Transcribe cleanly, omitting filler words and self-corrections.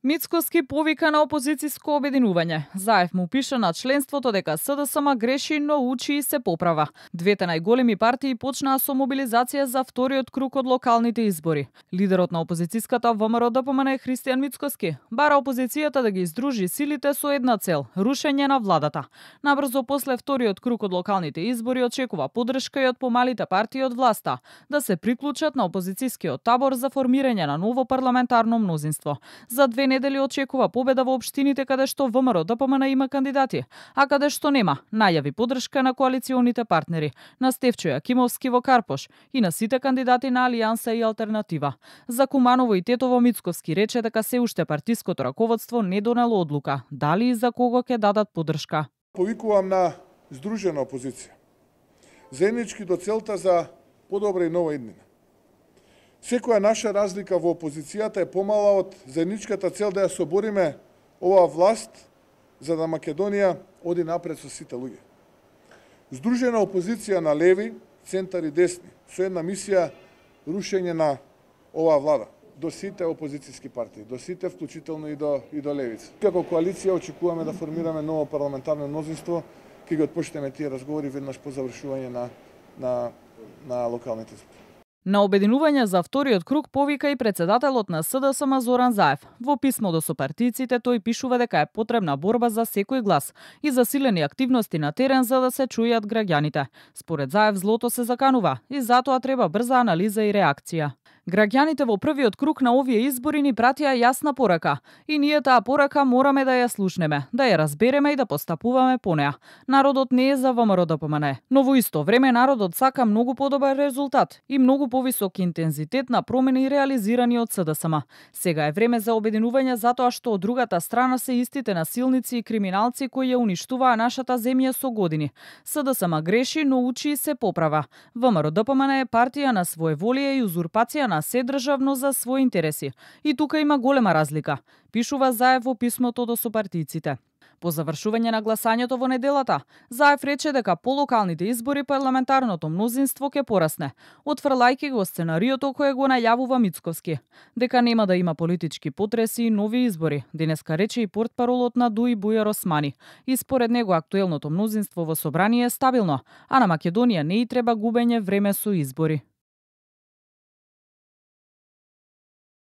Мицкоски повика на опозицијско обединување. Заев му пише на членството дека СДСМ греши, но учи и се поправа. Двете најголеми партии почнаа со мобилизација за вториот круг од локалните избори. Лидерот на опозицијската ВМРО-ДПМН Христијан Мицкоски бара опозицијата да ги издружи силите со една цел – рушење на владата. Набрзо после вториот круг од локалните избори очекува поддршка и од помалите партии од власта да се приклучат на опозицијскиот табор за формирање на ново парламентарно мнозинство. За 2 недели очекува победа во општините каде што ВМРО-ДПМН има кандидати, а каде што нема, најави поддршка на коалиционите партнери, на Стефчо Јакимовски во Карпош и на сите кандидати на Алијанса и Алтернатива. За Куманово и Тетово Мицковски рече дека се уште партиското раководство не донело одлука, дали и за кого ќе дадат поддршка. Повикувам на здружена опозиција, заеднички до целта за подобра и нова иднина. Секоја наша разлика во опозицијата е помала од заедничката цел да ја собориме оваа власт за да Македонија оди напред со сите луѓе. Здружена опозиција на леви, центар и десни, со една мисија рушење на оваа влада до сите опозицијски партии, до сите вклучително и до левица. Како коалиција очекуваме да формираме ново парламентарно мнозинство, ќе ги отпочнеме тие разговори веднаш по завршување на локалните избори. На обединување за вториот круг повика и председателот на СДСМ Зоран Заев. Во писмо до сопартијците тој пишува дека е потребна борба за секој глас и засилени активности на терен за да се чујат граѓаните. Според Заев злото се заканува и затоа треба брза анализа и реакција. Граѓаните во првиот круг на овие избори ни пратија јасна порака и ние таа порака мораме да ја слушнеме, да ја разбереме и да постапуваме по неа. Народот не е за ВМРО-ДПМН, но во исто време народот сака многу подобар резултат и многу повисок интензитет на промени реализирани од СДСМ. Сега е време за обединување затоа што од другата страна се истите насилници и криминалци кои ја уништуваа нашата земја со години. СДСМ греши, но учи и се поправа. ВМРО-ДПМН е партија на своеволие и узурпација на се државно за своји интереси. И тука има голема разлика, пишува Заев во писмото до сопартијците. По завршување на гласањето во неделата, Заев рече дека по локалните избори парламентарното мнозинство ќе порасне, отфрлајќи го сценариото кое го најавува Мицковски, дека нема да има политички потреси и нови избори, денеска рече и портпаролот на ДУИ Бујар Османи. И според него актуелното мнозинство во собрание е стабилно, а на Македонија не и треба губење време со избори.